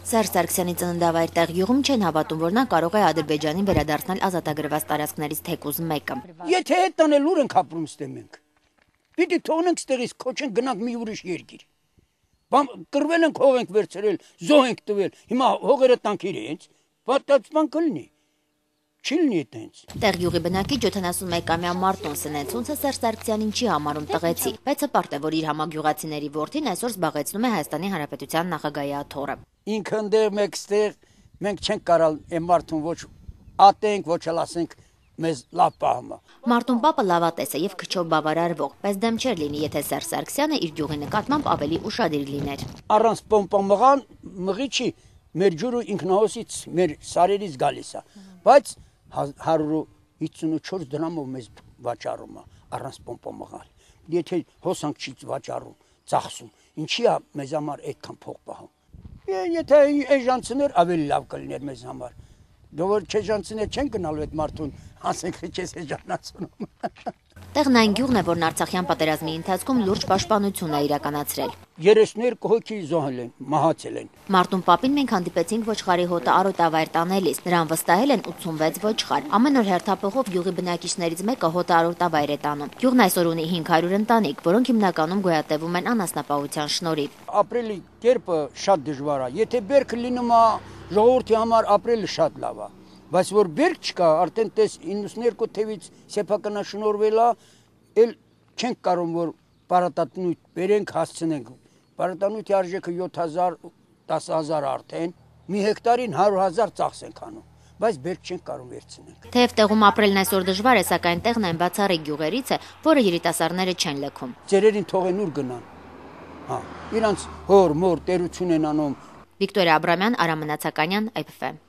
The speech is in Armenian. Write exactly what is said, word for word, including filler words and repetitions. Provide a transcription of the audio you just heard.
Սերժ Սարգսյանի ծննդավայր Տեղյուղում չեն հավատում, որ նա կարող է Ադրբեջանին վերադարձնել ազատագրված տարածքներից թեկուզ մեկը։ Եթե այդ տանել ուր ենք ապրում ստե մենք։ Պիտի թողնենք ստեղից քոչենք գնանք մի ուրիշ երկիր։ Բամ կրվել ենք հող ենք վերցրել, զոհ ենք տվել։ Հիմա հողերը տանք իրենց, պատասխան կլինի։ Չլինի այդպես։ Տեղյուղի բնակիչ յոթանասունմեկամյա Մարտոն Սնեցունցը Սերժ Սարգսյանին չի համարում տղեցի, բայց հպարտ է, որ իր համագյուղացիների որդին այսօր զբաղեցնում է Հայաստանի Հանրապետության նախագահի աթոռը։ Ինքը ընդեղ մեկստեղ մենք չենք կարալ այն մարդուն ոչ ատենք, ոչ էլ ասենք մեզ լավ պահմա։ Մարտուն պապը լավատես է եւ քչով բավարարվող, բայց դեմ չէր լինի, եթե Սերժ Սարգսյանը իր գյուղի նկատմամբ ավելի ուշադիր լիներ։ Առանց պոմպամղան մղի չի, մեր ջուրը ինքնահոսից մեր սարերից գալիս է, բայց հարյուր հիսունչորս դրամով մեզ վաճառում է առանց պոմպամղալ։ Եթե հոսանք չի վաճառում, ծախսում, ինչի է մեզ համար այդքան փող պահում։ Եթե էժանցիներ ավելի լավ կլիներ մեզ համար։ Դու չեժանցիներ չեն գնալու այդ մարդուն, ասենք քեզ էժանացնում։ Տեղն այն գյուղն է, որն Արցախյան պատերազմի ընթացքում լուրջ պաշտպանություն է իրականացրել։ երեսներկու հոգի զոհել են, մահացել են։ Մարտուն պապին մենք հանդիպեցինք ոչխարի հոտը արոտավայր տանելիս։ Նրան վստահել են ութսունվեց ոչխար։ Ամեն օր հերթափոխով գյուղի բնակիչներից մեկը հոտը արոտավայր է տանում։ Գյուղն այսօր ունի հինգ հարյուր ընտանիք, որոնք հիմնականում գոյատևում են անասնապահության շնորհիվ։ Ապրելի կերպը շատ դժվար է։ Եթե բերքը լինում է ժողովրդի համար ապրելը շատ լավ է։ Բայց որ բերք չկա, արդեն տես իննսունհինգ թևից սեփականաշնորհվել է, էլ չենք կարող որ պարատանույթ բերենք հասցնենք։ Պարատանույթի արժեքը յոթ հազար, դաս հազար արդեն, մի հեկտարին հարյուր հազար ծախս ենք անում, բայց բերք չենք կարող վերցնենք։ Թեև տեղում ապրելն այսօր դժվար է, սակայն տեղն այն բացառիկ գյուղերից է, որը երիտասարդները չեն լքում։ Ծերերին թողեն ուր գնան։ Հա, իրանց հոր, մոր, տերություն են անում։ Վիկտորիա Աբրամյան, Արամ Մնացականյան, Այ Փ Ֆ։